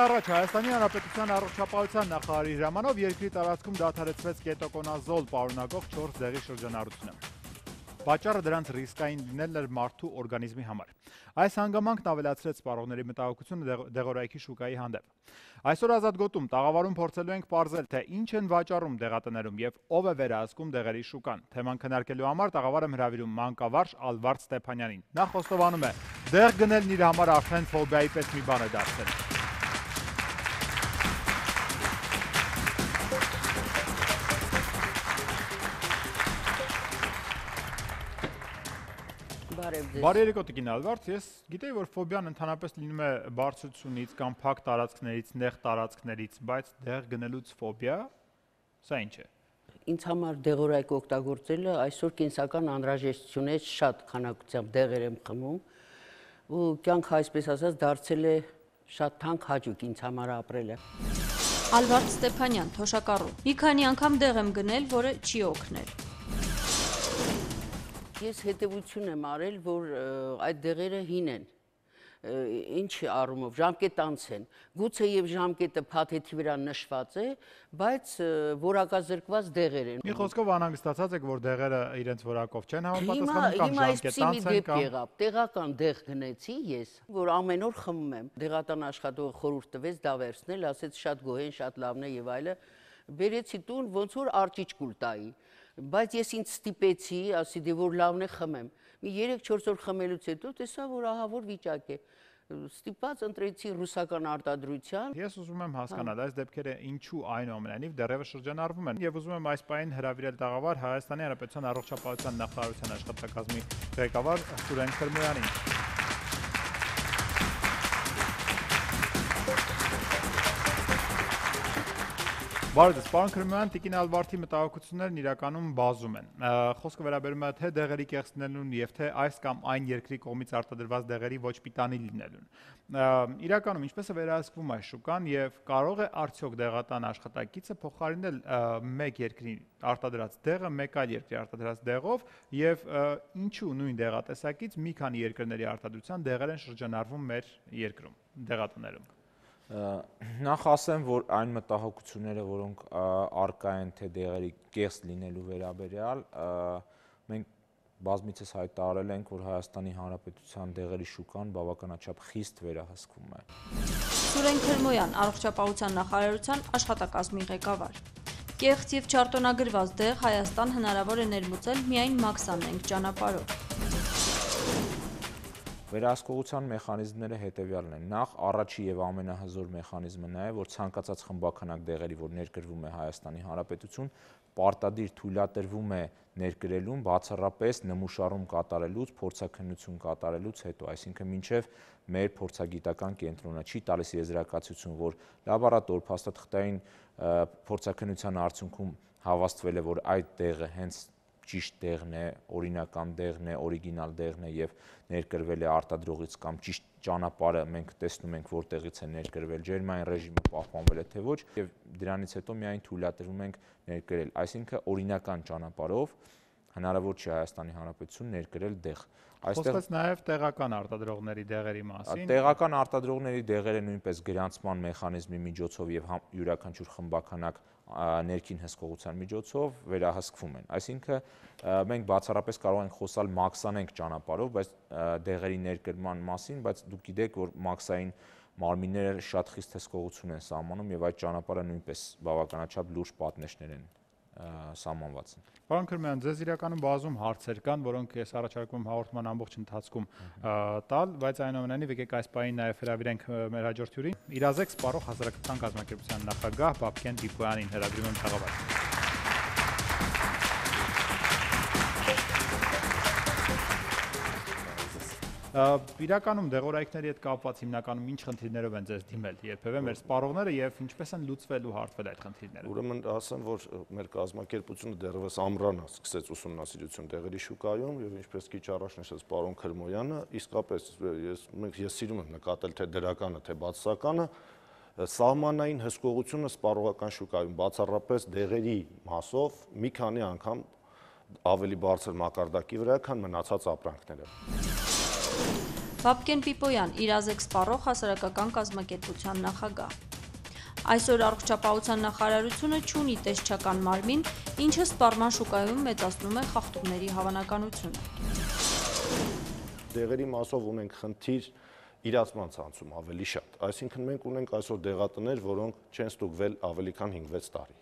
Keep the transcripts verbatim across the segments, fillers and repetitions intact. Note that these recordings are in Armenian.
առաջ Հայաստանի Հանրապետության առողջապահության նախարարի հրամանով երկրի տարածքում դադարեցվեց կետոկոնազոլ պարունակող չորս դեղի շրջանառությունը։ Պատճառը դրանց ռիսկային լինելն էր մարդու օրգանիզմի համար։ Այս հանգամանքն ավելացրեց սպառողների մտահոգությունը դեղորայքի շուկայի հանդեպ։ Այսօր Ազատ գոտում տաղավարում փորձելու ենք պարզել, թե ինչ են վաճառում դեղատներում եւ ով է վերահսկում դեղերի շուկան։ Թեման քննարկելու համար տաղավարը հրավիրում մանկավարժ Ալվարդ Ստեփանյանին։ Նա խոստովանում է, դեղ գնելն իր համար արդեն ֆոբիայի պես մի բան է դարձել։ Բարի երեկո տիկին Ալվարդ, ես գիտեի, որ ֆոբիան ընդհանրապես լինում է բարձրությունից կամ փակ տարածքներից, նեղ տարածքներից, բայց դեղ գնելուց ֆոբիա, սա ինչ է։ Ինձ համար դեղորայք օգտագործելը այսօր կենսական անհրաժեշտություն է, շատ քանակությամբ դեղեր եմ խմում ու կյանքը այսպես ասած դարձել է շատ թանկ հաճույք ինձ համար ապրելը։ Ալվարդ Ստեփանյան, Թոշակառու։ Մի քանի անգամ դեղ եմ գնել, որը չի օգնել։ Ես հետևություն եմ արել, որ այդ դեղերը հին են, ինչ առումով, ժամկետանց են, գուցե եւ ժամկետը փաթեթի վրա նշված է, բայց որակազրկված դեղեր են։ Մի խոսքով անհանգստացած եք, որ դեղերը իրենց որակով չեն համապատասխանում կամ ժամկետանց են կամ եղավ, տեղական դեղ գնեցի ես, որ ամեն օր խմում եմ։ Դեղատան աշխատողը խորհուրդ տվեց դա վերցնել, ասեց շատ գոհ են, շատ լավն է եւ այլը։ Բերեցի տուն, ոնց որ արճիճ կուլ տայի։ Բայց ես ինձ ստիպեցի, ասի դե որ լավն է խմեմ։ Մի երեք-չորս օր խմելուց հետո տեսա, որ ահա որ վիճակ է։ Ստիպած ընտրեցի ռուսական արտադրության։ Ես ուզում եմ հասկանալ, այս դեպքերը ինչու այնուամենայնիվ դեռևս շրջանառվում են եւ ուզում եմ այս պահին հրավիրել տաղավար Հայաստանի Հանրապետության առողջապահության նախարարության աշխատակազմի ղեկավար Սուրեն Քրմոյանին։ Բարև ձեզ, պարոն Քրմոյան, տիկին Ալվարդի մտահոգություններն իրականում բազում են։ Խոսքը վերաբերում է թե դեղերի կեղծնելուն եւ թե այս կամ այն երկրի կողմից արտադրված դեղերի ոչ պիտանի լինելուն։ Իրականում ինչպես է վերահսկվում այս շուկան եւ կարող է արդյոք դեղատան աշխատակիցը փոխարինել մեկ երկրի արտադրած դեղը մեկ այլ երկրի արտադրած դեղով եւ ինչու նույն դեղատեսակից մի քանի երկրների արտադրության դեղեր են շրջանառվում մեր երկրում, դեղատներում։ Նախ ասեմ, որ այն մտահոգությունները, որոնք առկա են թե դեղերի կեղծ լինելու վերաբերյալ, մենք բազմիցս հայտարարել ենք, որ Հայաստանի Հանրապետության դեղերի շուկան բավականաչափ խիստ վերահսկվում է։ Սուրեն Քրմոյան, առողջապահության նախարարության աշխատակազմի ղեկավար։ Կեղծ եւ չարտոնագրված դեղ Հայաստան հնարավոր է ներմուծել միայն մաքսանենգ ճանապարհով։ Վերահսկողության մեխանիզմները հետևյալն են։ Նախ առաջի եւ ամենահզոր մեխանիզմը նա է, որ ցանկացած խմբականակ դեղերի, որ ներկրվում է Հայաստանի Հանրապետություն, պարտադիր թույլատրվում է ներկրելուն բացառապես նմուշառում կատարելուց, փորձաքննություն կատարելուց հետո, այսինքն մինչև մեր փորձագիտական կենտրոնը չի տալիս եզրակացություն, որ լաբորատոր փաստաթղթային փորձաքննության արդյունքում հավաստվել է, որ այդ դեղը հենց ճիշտ դեղն է, օրինական դեղն է, օրիգինալ դեղն է եւ ներկրվել է արտադրողից կամ ճիշտ ճանապարհը մենք տեսնում ենք որտեղից է ներկրվել, ջերմային ռեժիմը պահպանվել է թե ոչ եւ դրանից հետո միայն թույլատրում ենք ներկրել, այսինքն օրինական ճանապարհով հնարավոր չի Հայաստանի Հանրապետություն ներկրել դեղ։ Խոսքս նաև տեղական արտադրողների դեղերի մասին։ Տեղական արտադրողների դեղերը նույնպես գրանցման մեխանիզմի միջոցով եւ յուրաքանչյուր խմբականակ ներքին հսկողության միջոցով վերահսկվում են։ Այսինքն մենք բացառապես կարող ենք խոսալ մաքսանենգ ճանապարհով, բայց դեղերի ներկրման մասին, բայց դուք գիտեք, որ մաքսային մարմինները շատ խիստ հսկողություն են սահմանում եւ այդ ճանապարհը նույնպես բավականաչափ լուրջ պատնեշներ են սահմանված։ Պարոն Քրմոյան, ձեզ իրականում բազում հարցեր կան, որոնք ես առաջարկում եմ հաղորդման ամբողջ ընթացքում տալ, բայց այնուամենայնիվ եկեք այս պահին նաև հրավիրենք մեր հաջորդ հյուրին, Իրազեկ սպառող հասարակական կազմակերպության նախագահ Բաբկեն Դիպոյանին հրավիրում եմ տաղավար։ Իրականում դեղորայքների հետ կապված հիմնականում ինչ խնդիրներով են ձեզ դիմել երբևէ մեր սպառողները եւ ինչպես են լուծվել ու հարթվել այդ խնդիրները։ Ուրեմն ասեմ, որ մեր կազմակերպությունը դեռևս ամռանը սկսեց ուսումնասիրություն դեղերի շուկայում եւ ինչպես քիչ առաջ նշեց պարոն Քրմոյանը, իսկապես ես մենք ես սիրում եմ նկատել թե դրականը, թե բացասականը, սահմանային հսկողությունը սպառողական շուկայում բացառապես դեղերի մասով մի քանի անգամ ավելի բարձր մակարդակի վրա, քան մնացած ապրանքները։ Վապկեն Պիպոյան, իրազեկ սպառող հասարակական կազմակերպության նախագահ։ Այսօր առողջապահության նախարարությունը չունի տեսչական մարմին, ինչը սպառման շուկայում մեծացնում է խախտումների հավանականությունը։ Դեղերի մասով ունենք խնդիր իրացման ցանցում ավելի շատ։ Այսինքն մենք ունենք այսօր դեղատներ, որոնք չեն ստուգվել ավելի քան հինգ-վեց տարի։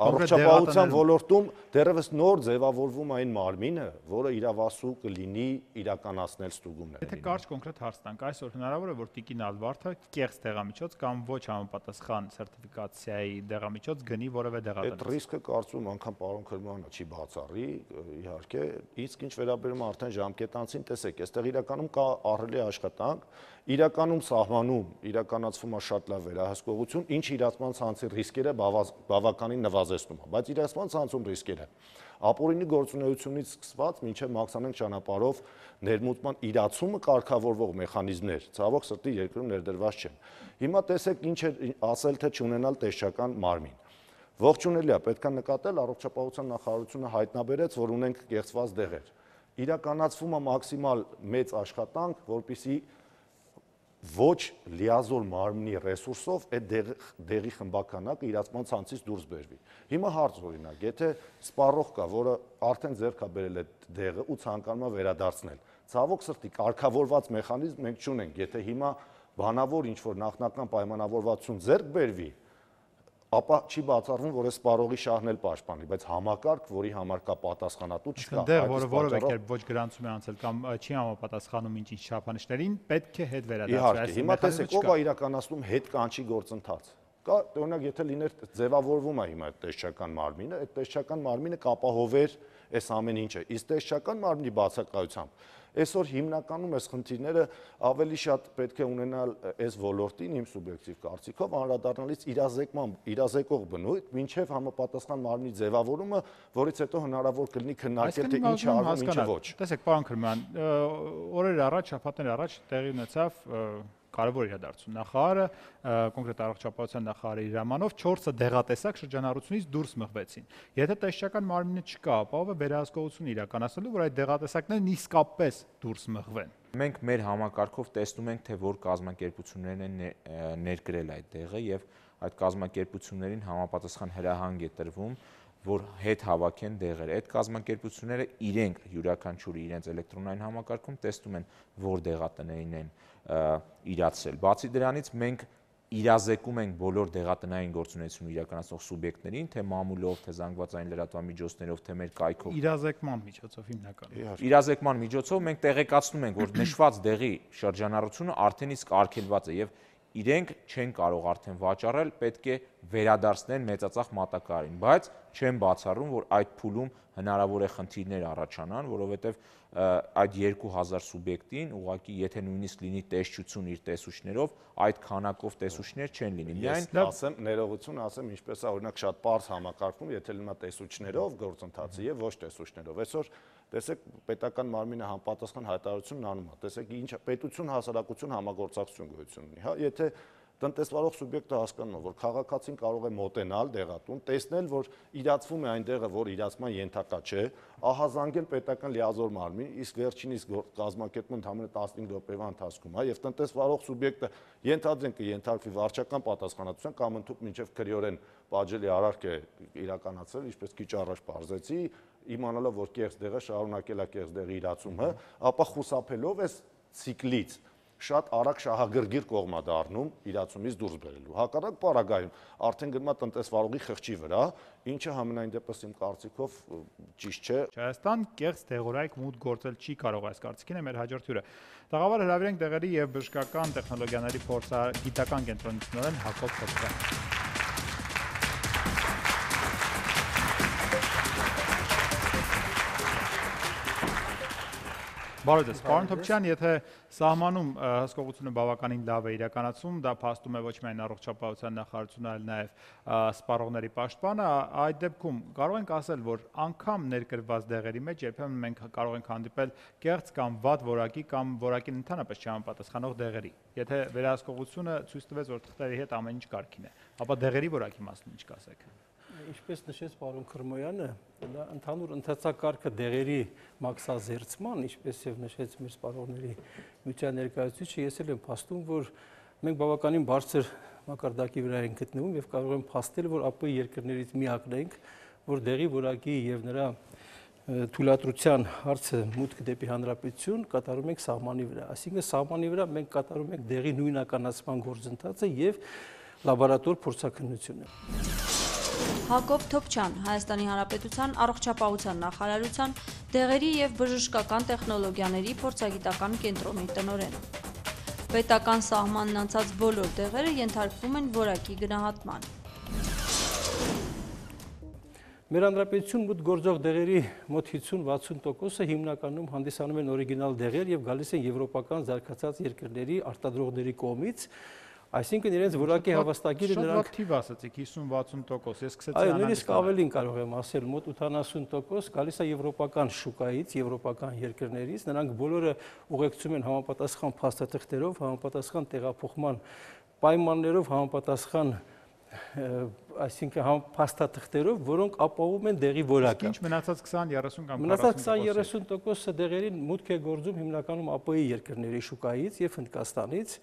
Առողջապահության ոլորտում դեռևս նոր ձևավորվում այն մարմինը, որը իրավասու կլինի իրականացնել ստուգումները։ Եթե կարճ կոնկրետ հարց տանք, այսօր հնարավոր է որ տիկին Ալվարդը կեղծ դեղամիջոց կամ ոչ համապատասխան սերտիֆիկացիայի դեղամիջոց գնի որևէ դեղատնից։ Այդ ռիսկը կարծում անգամ պարոն Քրմյանը չի բացառի, իհարկե, իսկ ինչ վերաբերում է արդեն ժամկետանցին, տեսեք, այստեղ իրականում կա ահռելի աշխատանք, իրականում սահմանում իրականացվում է շատ լավ վերահսկողություն, ինչ իրացման ցանցի ռիսկերը բավականին նվազեցնում է, բայց իրացման ցանցում ռիսկերը ապօրինի գործունեությունից սկսված մինչև մաքսանենգ ճանապարհով ներմուծման իրացումը կարգավորվող մեխանիզմներ, ցավոք սրտի երկրում ներդրված չեն։ Հիմա տեսեք ինչ է ասել թե չունենալ տեսչական մարմին։ Ողջունելի է, պետք է նկատել, առողջապահության նախարարությունը հայտնաբերեց, որ ունենք կեղծված դեղեր։ Իրականացվում է մաքսիմալ մեծ աշխատանք, որպեսզի ոչ լիազոր մարմնի ռեսուրսով այդ դեղի խմբականակը իրացման ցանցից դուրս բերվի։ Հիմա հարց օրինակ, եթե սպառող կա, որը արդեն ձեռք է բերել այդ դեղը ու ցանկանում է վերադարձնել, ցավոք սրտի կարգավորված մեխանիզմ մենք չունենք, եթե հիմա բանավոր ինչ-որ նախնական պայմանավորվածություն ձեռք բերվի, ապա չի բացառվում, որ այս սպառողի շահն էլ պաշտպանի, բայց համակարգ, որի համար կա պատասխանատու չկա։ Դեղ, որը որևէ կերպ ոչ գրանցում է անցել կամ չի համապատասխանում ինչ-ինչ չափանիշներին, պետք է հետ վերադարձվի։ Իհարկե, հիմա տեսեք, ով է իրականացնում հետ կանչի գործընթաց։ Կա, օրինակ, եթե լիներ ձևավորվում է հիմա այդ տեսչական մարմինը, այդ տեսչական մարմինը կապահովեր այս ամեն ինչը։ Իսկ տեսչական մարմնի բացակայությամբ այսօր հիմնականում այս խնդիրները ավելի շատ պետք է ունենալ այս ոլորտին իմ սուբյեկտիվ կարծիքով անդրադառնալից իրազեկման, իրազեկող բնույթ, մինչև համապատասխան մարմնի ձևավորումը, որից հետո հնարավոր կլինի քննարկել թե ինչ է արվում, ինչը ոչ։ Տեսեք, պարոն Քրմյան, օրեր առաջ, շաբաթներ առաջ տեղի ունեցավ կարևոր իրադարձություն։ Նախարարը, կոնկրետ առողջապահության նախարարի հրամանով չորսը դեղատեսակ շրջանառությունից դուրս մղվեցին։ Եթե տեսչական մարմինը չկա, ապա ով է վերահսկողություն իրականացնելու, որ այդ դեղատեսակներն իսկապես դուրս մղվեն։ Մենք մեր համակարգով տեսնում ենք, թե որ կազմակերպություններն են ներկրել այդ դեղը եւ այդ կազմակերպություններին համապատասխան հրահանգ է տրվում, որ հետ հավաքեն դեղերը։ Այդ կազմակերպությունները իրենք յուրաքանչյուրը իրենց էլեկտրոնային համակարգում տեսնում են, որ դեղատնային են իրացրել։ Բացի դրանից մենք իրազեկում ենք բոլոր դեղատնային գործունեություն իրականացնող սուբյեկտներին, թե մամուլով, թե զանգվածային լրատվամիջոցներով, թե մեր կայքով։ Իրազեկման միջոցով հիմնականում։ Իրազեկման միջոցով մենք տեղեկացնում ենք, որ նշված դեղի շրջանառությունը արդեն իսկ արգելված է եւ իրենք չեն կարող արդեն վաճառել, պետք է վերադարձնել մեծածախ մատակարարին, բայց չեն բացառում, որ այդ փուլում հնարավոր է խնդիրներ առաջանան, որովհետև այդ երկու հազար սուբյեկտին ուղղակի եթե նույնիսկ լինի տեսչություն իր տեսուչներով, այդ քանակով տեսուչներ չեն լինի։ Միայն ասեմ, ներողություն ասեմ, ինչպես է օրինակ շատ པարզ համակարգում, եթե լինի տեսուչներով գործընթացը եւ ոչ տեսուչներով։ Այսօր տեսեք պետական մարմինը համապատասխան հայտարարություն անում է։ Տեսեք ինչ պետություն հասարակություն համագործակցություն գոյություն ունի, հա, եթե տնտեսվարող սուբյեկտը հասկանում է, որ քաղաքացին կարող է մոտենալ դեղատուն, տեսնել, որ իրացվում է այն դեղը, որ իրացման ենթակա չէ, ահազանգել պետական լիազոր մարմին, իսկ վերջինիս կազմակերպում ընդամենը տասնհինգ րոպեվա ընթացքում, հա, եւ տնտեսվարող սուբյեկտը ենթադրենք կենթարկվի վարչական պատասխանատվության կամ ընդհանուր մինչև քրեորեն պատժելի արարք է իրականացրել, ինչպես քիչ առաջ բարձեցի, իմանալով, որ կեղծ դեղը շարունակել է կեղծ դեղի իրացումը, ապա խուսափելով այս ցիկլից շատ արագ շահագրգիռ կողմա դառնում իրացումից դուրս բերելու։ Հակառակ պարագայում արդեն գնում է տնտեսվարողի խղճի վրա, ինչը համենայն դեպս իմ կարծիքով ճիշտ չէ։ Հայաստան կեղծ դեղորայք մուտք գործել չի կարող, այս կարծիքին է մեր հաջորդ հյուրը։ Տաղավար հրավիրենք դեղերի եւ բժշկական տեխնոլոգիաների փորձագիտական կենտրոնի տնօրեն Հակոբ Թոփչյան։ Բարև ձեզ, պարոն Թոփչյան, եթե սահմանում հսկողությունը բավականին լավ է իրականացում, դա փաստում է ոչ միայն առողջապահության նախարարությունը, այլ նաև սպառողների պաշտպանը, այդ դեպքում կարող ենք ասել, որ անգամ ներկրված դեղերի մեջ երբեմն մենք կարող ենք հանդիպել կեղծ կամ վատ որակի կամ որակին ընդհանրապես չհամապատասխանող դեղերի։ Եթե վերահսկողությունը ցույց տվեց, որ թղթերի հետ ամեն ինչ կարգին է, ապա դեղերի որակի մասին ինչ կասեք։ Ինչպես նշեց պարոն Քրմոյանը, դա ընդհանուր ընթացակարգը դեղերի մաքսազերծման, ինչպես եւ նշեց մեր սպառողների միության ներկայացուցիչը, ես էլ եմ փաստում, որ մենք բավականին բարձր մակարդակի վրա ենք գտնվում եւ կարող եմ փաստել, որ ԱՊՀ երկրներից միակն ենք, որ դեղի որակի եւ նրա թույլատրության հարցը մուտք դեպի հանրապետություն կատարում ենք սահմանի վրա։ Այսինքն սահմանի վրա մենք կատարում ենք դեղի նույնականացման գործընթացը եւ լաբորատոր փորձաքննությունը։ Հակոբ Թոփչյան, Հայաստանի Հանրապետության Առողջապահության նախարարության դեղերի եւ բժշկական տեխնոլոգիաների փորձագիտական կենտրոնի տնօրեն։ Պետական սահմանն անցած բոլոր դեղերը ենթարկվում են որակի գնահատման։ Մեր հանրապետություն մուտք գործող դեղերի մոտ հիսուն-վաթսուն տոկոսը հիմնականում հանդիսանում են օրիգինալ դեղեր եւ գալիս են եվրոպական զարգացած երկրների արտադրողների կողմից, այսինքն իրենց որակի հավաստագիրը նրանք շատ թիվ ասացիք հիսուն-վաթսուն տոկոս, ես սկսեցի այո, նույնիսկ ավելին կարող եմ ասել, մոտ ութանասուն տոկոս գալիս է եվրոպական շուկայից, եվրոպական երկրներից, նրանք բոլորը ուղեկցում են համապատասխան փաստաթղթերով, համապատասխան տեղափոխման պայմաններով, համապատասխան այսինքն փաստաթղթերով, որոնք ապահովում են դեղի որակը։ Ինչ մնացած քսան երեսուն կամ մնացած քսան երեսուն տոկոսը դեղերին մուտք է գործում հիմնականում ԱՊՀ երկրների շուկայից եւ Հնդկաստանից։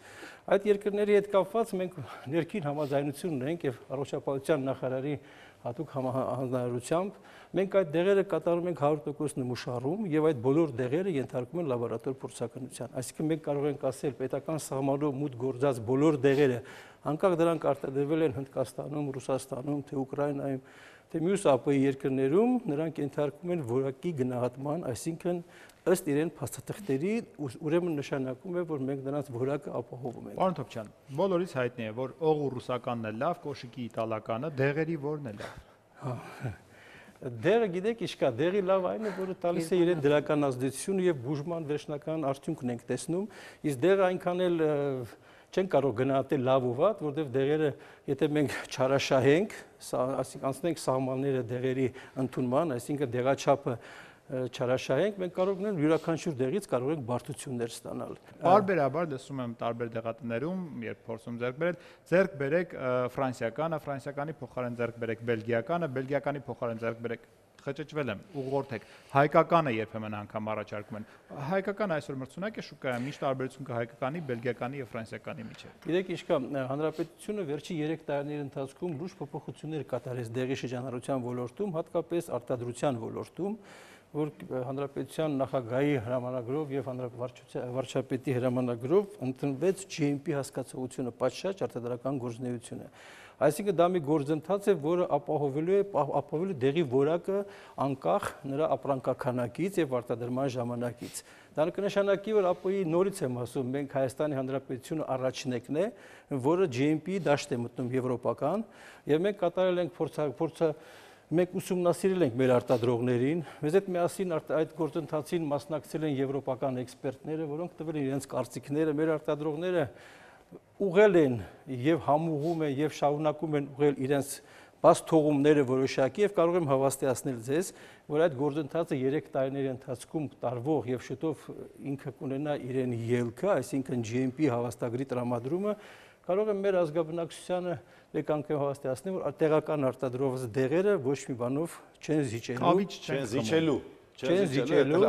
Այդ երկրների հետ կապված մենք ներքին համաձայնություն ունենք եւ առողջապահության նախարարի հատուկ հանձնարարությամբ մենք այդ դեղերը կատարում ենք հարյուր տոկոս նմուշարում եւ այդ բոլոր դեղերը ենթարկվում են լաբորատոր փորձաքննության։ Այսինքն մենք կարող ենք ասել պետական սահմանով մուտք գործած բոլոր դեղերը, անկախ դրանք արտադրվել են Հնդկաստանում, Ռուսաստանում, թե Ուկրաինայում, թե մյուս ԱՊՀ երկրներում, նրանք ենթարկվում են որակի գնահատման, այսինքն ըստ իրեն փաստաթղթերի, ուրեմն նշանակում է, որ մենք նրանց որակը ապահովում ենք։ Պարոն Թոփչյան, բոլորից հայտնի է, որ օղու ռուսականն է լավ, կոշիկի իտալականը, դեղերի որն է լավ։ Դեղը գիտեք ինչ կա, դեղի լավ այն է, որը տալիս է իրեն դրական ազդեցություն եւ բուժման վերջնական արդյունքն ենք տեսնում, իսկ դեղը այնքան էլ չեն կարող գնահատել լավ ու վատ, որտեղ դեղերը, եթե մենք չարաշահենք, այսինքն անցնենք սահմանները դեղերի ընդունման, այսինքն դեղաչափը չարաշահենք, մենք կարող ենք յուրաքանչյուր դեղից կարող ենք բարդություններ ստանալ։ Բարբերաբար լսում եմ տարբեր դեղատներում, երբ փորձում ձեռք բերել, ձեռք բերեք ֆրանսիականը, ֆրանսիականի փոխարեն ձեռք բերեք բելգիականը, բելգիականի փոխարեն ձեռք բերեք խճճվել եմ, ուղղորդեք։ Հայկականը երբեմն անգամ առաջարկում են։ Հայկականը այսօր մրցունակ է շուկայում, ինչ տարբերություն կա հայկականի, բելգիականի եւ ֆրանսիականի միջեւ։ Գիտեք ինչ կա, հանրապետությունը վերջի երեք տարիների ընթացքում լուրջ փոփոխություններ կատարեց դեղի շրջանառության ոլորտում, հատկապես արտադրության ոլորտում, որ հանրապետության նախագահի հրամանագրով եւ վարչապետի հրամանագրով ընդունվեց G M P հասկացողությունը պատշաճ արտադրական գործունեությունը։ Այսինքն դա մի գործընթաց է, որը ապահովելու է ապահովելու դեղի որակը անկախ նրա ապրանքաքանակից եւ արտադրման ժամանակից։ Դա կնշանակի, որ ԱՊՀ-ի նորից եմ ասում, մենք Հայաստանի Հանրապետությունը առաջնեկն է, որը G M P դաշտ է մտնում եվրոպական, եւ մենք կատարել ենք փորձը Մենք ուսումնասիրել ենք մեր արտադրողներին, մեզ հետ միասին այդ գործընթացին մասնակցել են եվրոպական էքսպերտները, որոնք տվել են իրենց կարծիքները, մեր արտադրողները ուղղել են եւ համուղում են եւ շարունակում են ուղղել իրենց բաց թողումները որոշակի եւ կարող եմ հավաստիացնել ձեզ, որ այդ գործընթացը երեք տարիների ընթացքում տարվող եւ շուտով ինքը կունենա իրեն ելքը, այսինքն G M P հավաստագրի տրամադրումը, կարող եմ մեր ազգաբնակչությանը մեկ անգամ հավաստիացնել, որ տեղական արտադրողված դեղերը ոչ մի բանով չեն զիջելու, չեն զիջելու, չեն զիջելու,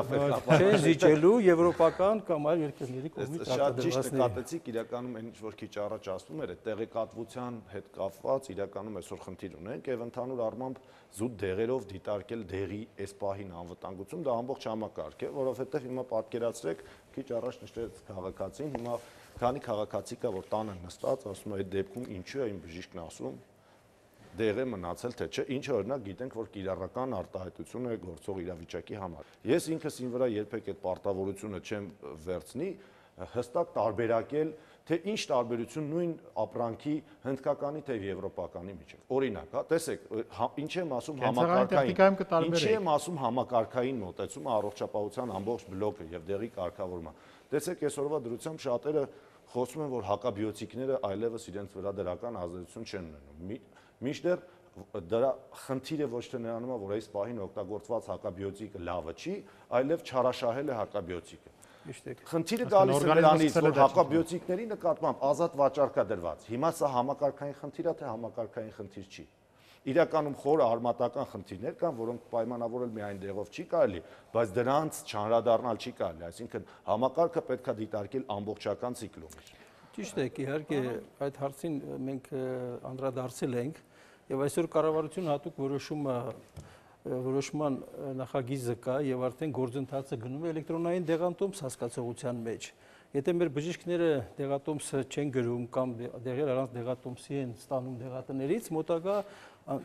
չեն զիջելու եվրոպական կամ այլ երկրների կողմից արտադրվածների։ Շատ ճիշտ նկատեցիք, իրականում այն ինչ որ քիչ առաջ ասվում էր, այդ տեղեկատվության հետ կապված իրականում այսօր խնդիր ունենք եւ ընդհանուր առմամբ զուտ դեղերով դիտարկել դեղի այս պահին անվտանգություն, դա ամբողջ համակարգ է, որովհետեւ հիմա պատկերացրեք, քիչ առաջ նշեց քաղաքացին, հիմա քանի քաղաքացի կա, որ տանը նստած, ասում է այդ դեպքում ինչու է իմ բժիշկն ասում, դեղ է մնացել թե չէ, ինչը օրինակ գիտենք, որ կիրառական արտահայտություն է գործող իրավիճակի համար։ Ես ինքս ին վրա երբեք այդ պարտավորությունը չեմ վերցնի, հստակ տարբերակել, թե ինչ տարբերություն նույն ապրանքի հնդկականի թե եվրոպականի միջև։ Օրինակ, հա, տեսեք, ինչ եմ ասում համակարգային, ինչ եմ ասում համակարգային մոտեցումը առողջապահության ամբողջ բլոկը եւ դեղի կարգավորումը։ Տեսեք, այսօրվա դրությամբ շատերը խոսում են, որ հակաբիոտիկները այլևս իրենց վրա դրական ազդեցություն չեն ունենում։ Մինչդեռ դրա խնդիրը ոչ թե նրանում է, որ այս պահին օգտագործված հակաբիոտիկը լավը չի, այլև չարաշահել է հակաբիոտիկը։ Խնդիրը գալիս է նրանից, որ հակաբիոտիկների նկատմամբ ազատ վաճառք է դրված։ Հիմա սա համակարգային խնդիր է, թե համակարգային խնդիր չի։ Իրականում խորը արմատական խնդիրներ կան, որոնք պայմանավորել միայն դեղով չի կարելի, բայց դրանց չանդրադառնալ չի կարելի, այսինքն համակարգը պետք է դիտարկել ամբողջական ցիկլում։ Ճիշտ է, իհարկե այդ հարցին մենք անդրադարձել ենք եւ այսօր կառավարությունը հատուկ որոշումը որոշման նախագիծը կա եւ արդեն գործընթացը գնում է էլեկտրոնային դեղատոմս հասկացողության մեջ։ Եթե մեր բժիշկները դեղատոմսը չեն գրում կամ դեղեր առանց դեղատոմսի են ստանում դեղատներից, մոտակա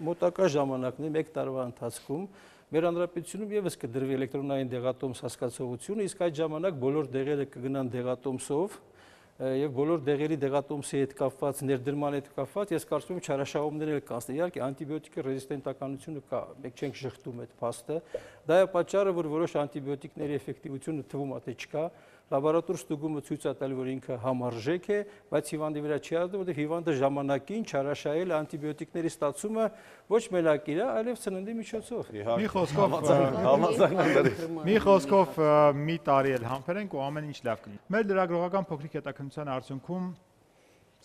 մոտակա ժամանակներում մեկ տարվա ընթացքում մեր հանրապետությունում եւս կդրվի էլեկտրոնային դեղատոմս հասկացողությունը, իսկ այդ ժամանակ բոլոր դեղերը կգնան դեղատոմսով եւ բոլոր դեղերի դեղատոմսի հետ կապված ներդրման հետ կապված ես կարծում եմ չարաշահումներ էլ կան։ Իհարկե անտիբիոտիկի ռեզիստենտականությունը կա, մենք չենք շղթում այդ փաստը։ Դա է պատճառը, որ որոշ անտիբիոտիկների էֆեկտիվությունը թվում է թե չկա։ Լաբորատոր ստուգումը ցույց է տալի, որ ինքը համարժեք է, բայց հիվանդի վրա չի ազդում, որովհետև հիվանդը ժամանակին չարաշահել անտիբիոտիկների ստացումը ոչ մենակ իր, այլև սննդի միջոցով։ Մի խոսքով մի խոսքով մի տարի էլ համբերենք ու ամեն ինչ լավ կլինի։ Մեր լրագրողական փոքրիկ հետաքննության արդյունքում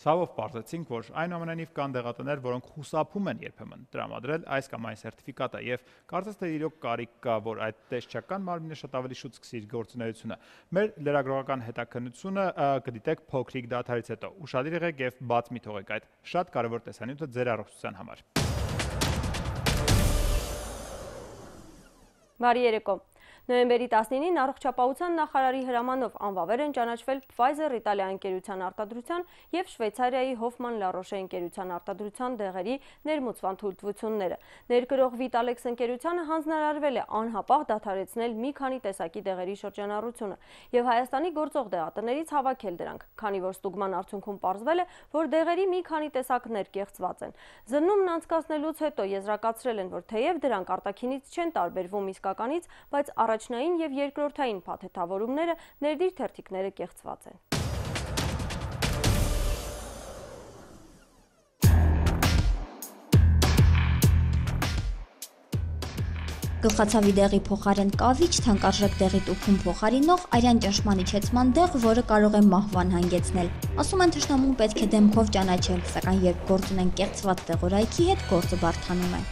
ցավով պարզեցինք, որ այնուամենայնիվ կան դեղատներ, որոնք խուսափում են երբեմն տրամադրել այս կամ այն սերտիֆիկատը եւ կարծես թե իրոք կարիք կա, որ այդ տեսչական մարմինը շատ ավելի շուտ սկսի իր գործունեությունը։ Մեր լրագրողական հետաքննությունը կդիտեք փոքրիկ դադարից հետո։ Ուշադիր եղեք եւ բաց մի թողեք այդ շատ կարեւոր տեսանյութը ձեր առողջության համար։ Բարի երեկո։ Նոյեմբերի տասնինին առողջապահության նախարարի հրամանով անվավեր են ճանաչվել Pfizer Իտալիա ընկերության արտադրության եւ Շվեյցարիայի Hoffmann La Roche ընկերության արտադրության դեղերի ներմուծման թույլտվությունները։ Ներկրող Vitalex ընկերությանը հանձնարարվել է անհապաղ դադարեցնել մի քանի տեսակի դեղերի շրջանառությունը եւ Հայաստանի գործող դեղատներից հավաքել դրանք, քանի որ ստուգման արդյունքում պարզվել է, որ դեղերի մի քանի տեսակներ կեղծված են։ Զննումն անցկացնելուց հետո եզրակացրել են, որ թեև դրանք արտաքինից չեն տարբերվում իսկականից, բայց առաջնային եւ երկրորդային փաթեթավորումները ներդիր թերթիկները կեղծված են։ Գլխացավի դեղի փոխարեն կավիչ, թանկարժեք դեղի տուփում փոխարինող արյան ճնշման իջեցման դեղ, որը կարող է մահվան հանգեցնել։ Ասում են թշնամուն պետք է դեմքով ճանաչել, սակայն երբ գործ ունեն կեղծված դեղորայքի հետ, գործը բարդանում է։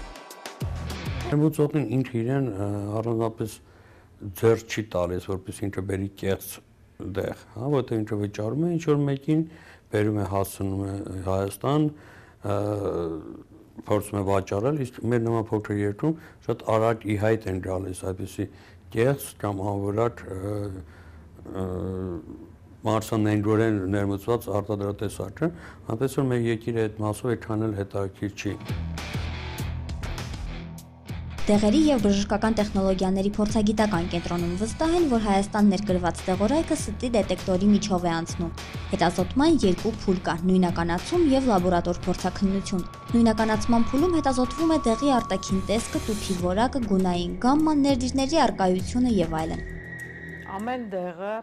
Ներմուծողին ինքը իրեն առանձնապես ձեռ չի տալիս, որպես ինքը բերի կեղծ դեղ, հա, որտեղ ինքը վճարում է ինչ-որ մեկին, բերում է հասցնում է Հայաստան, փորձում է վաճառել, իսկ մեր նման փոքր երկրում շատ արագ ի հայտ են գալիս այդպիսի կեղծ կամ անորակ մարսանենգորեն ներմուծված արտադրատեսակը, այնպես որ մեր երկիրը այդ մասով այդքան էլ հետաքրքիր չի։ Դեղերի եւ բժշկական տեխնոլոգիաների փորձագիտական կենտրոնում վստահ են, որ Հայաստան ներկրված դեղորայքը ստի դետեկտորի միջով է անցնում։ Հետազոտման երկու փուլ կա՝ նույնականացում եւ լաբորատոր փորձաքննություն։ Նույնականացման փուլում հետազոտվում է դեղի արտաքին տեսքը, տուփի որակը, գունային գամման, ներդիրների առկայությունը եւ այլն։ Ամեն դեղը